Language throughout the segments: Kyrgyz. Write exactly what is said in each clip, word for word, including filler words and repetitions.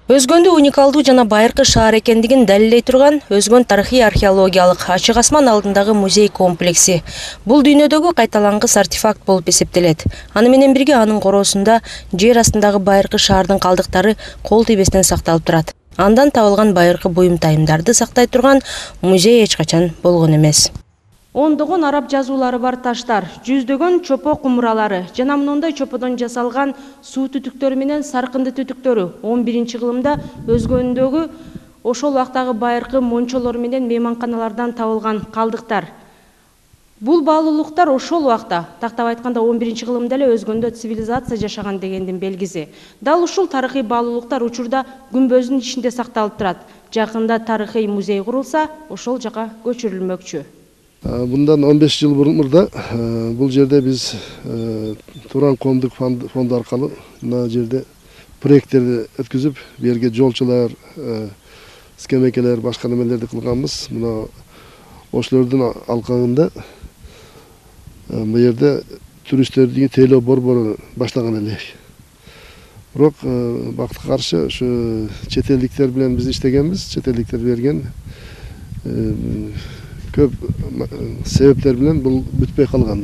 Өзгөндө уникалдуу жана байыркы шаар экендигин далилдей турган Өзгөн тарыхый археологиялык ачык асман алдындагы музей комплекси. Бул дүйнөдөгү кайталангыс артефакт болуп эсептелет. Аны менен бирге анын короосунда жер астындагы байыркы шаардын калдыктары кол тийбестен сакталып турат. Андан табылган байыркы буюм тайымдарды сактай турган музей эч качан болгон эмес. Ондогон араб жазуулары бар таштар, жүздөгөн чопо кумуралары жана мындай чоподон жасалган суу түтүктөрү менен саркынды түтүктөрү он биринчи кылымда Өзгөндөгү ошол убактагы байыркы мончолор менен мейманканалардан табылган калдыктар. Бул баалуулуктар ошол убакта, тактап айтканда он биринчи кылымда эле Өзгөндө цивилизация жашаган дегендин белгиси. Дал ушул тарыхый баалуулуктар учурда күмбөздүн ичинде сакталып турат. Жакында тарыхый музей курулса, ошол жака көчүрүлмөкчү. Bundan он беш жыл мурда бул жерде биз Туран коомдук фонду аркылуу мына жерде проекттерди өткүзүп, бу жерге жолчулар, скамейкалар, башка немелерди кылганбыз. Мына ошолордун алкагында бу жерде туристтерди тейлөө борбору баштаган элек. Бирок бакытка каршы ушу чет элдиктер менен биз иштегенбиз, чет элдиктер берген көп себептер менен бул бүтпөй калган.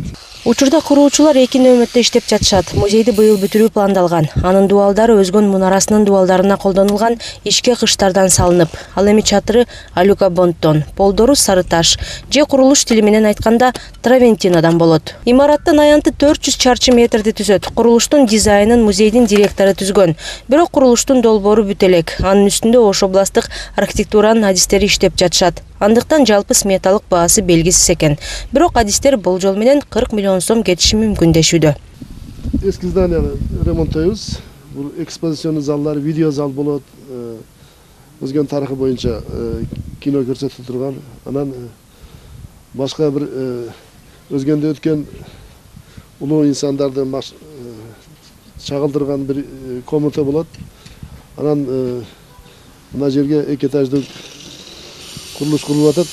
Учурда куруучулар эки нөөмөттө иштеп жатышат. Музейди быйыл бүтүрүү пландалган. Анын дубалдары Өзгөн мунарасынын дубалдарына колдонулган ичке кыштардан салынып, ал эми чатыры алюкабонттон, полдору сары таш, же курулуш стили менен айтканда Травентинодан болот. Имараттын аянты төрт жүз чарчы метрди түзөт. Курулуштун дизайнын музейдин директору түзгөн. Бирок курулуштун долбоору бүт элек. Анын үстүндө ош областтык архитектуранын адистери иштеп жатышат. Андыктан жалпы сметалык баасы белгисиз экен. Бирок адистер болжол менен кырк миллион сом кетиши мүмкүн дешүүдө. Эски зданияны ремонттойбуз. Бул экспозиционный залдар, видео зал болот. Өзгөн тарыхы боюнча кино көрсөтүп турган. Анан башка бир Өзгөндө өткөн улуу инсандарды чагылдырган бир комната болот. Анан мына жерге эки этаждык курулуш курулуп атат.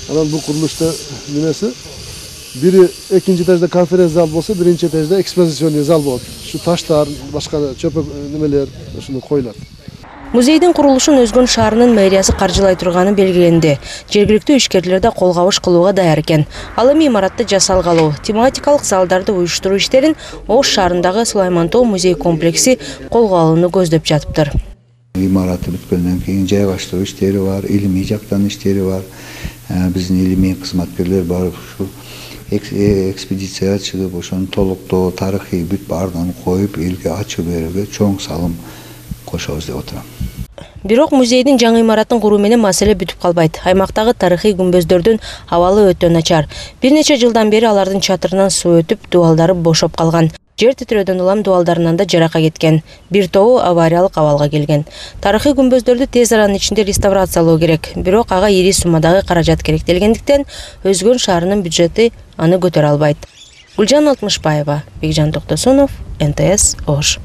Анан бул курулушта немеси бири экинчи этажда конференц зал болсо, биринчи этажда экспозиционный зал болот. Ушу таштар, башка чөп немелер ушуну коюлат. Музейдин курулушун Өзгөн шаарынын мэриясы каржылай турганы белгиленди. Жергиликтүү ишкерлер да кол кабыш кылууга даяр экен. Ал эми имаратты жасалгалоо, тематикалык залдарды уюштуруу иштерин Ош шаарындагы Сулаймантоо музей комплекси колго алууну көздөп жатыптыр. Имараты бүткөндөн кийин жайгаштыруу иштери бар, илимий жактан иштери бар. Биздин илимий кызматкерлер барып ушу экспедицияга чыгып, ошону толуктоо, тарыхый бүт баардыгын коюп, элге ачуу берүүгө чоң салым кошобуз деп отурам. Бирок музейдин жаңы имаратын куруу менен маселе бүтүп калбайт. Аймактагы тарыхый күмбөздөрдүн абалы өтө начар. Бир нече жылдан бери алардын чатырынан суу өтүп, дубалдары бошоп калган. Жер титирөөдөн улам дубалдарынан да жарака кеткен. Бир тобу авариялык абалга келген. Тарыхый күмбөздөрдү тез аранын ичинде реставрациялоо керек. Бирок ага ири суммадагы каражат керектелгендиктен Өзгөн шаарынын бюджети аны көтөрө албайт. Гүлжан Алтмышбаева, Бекжан Токтосунов, эн тэ эс Ош.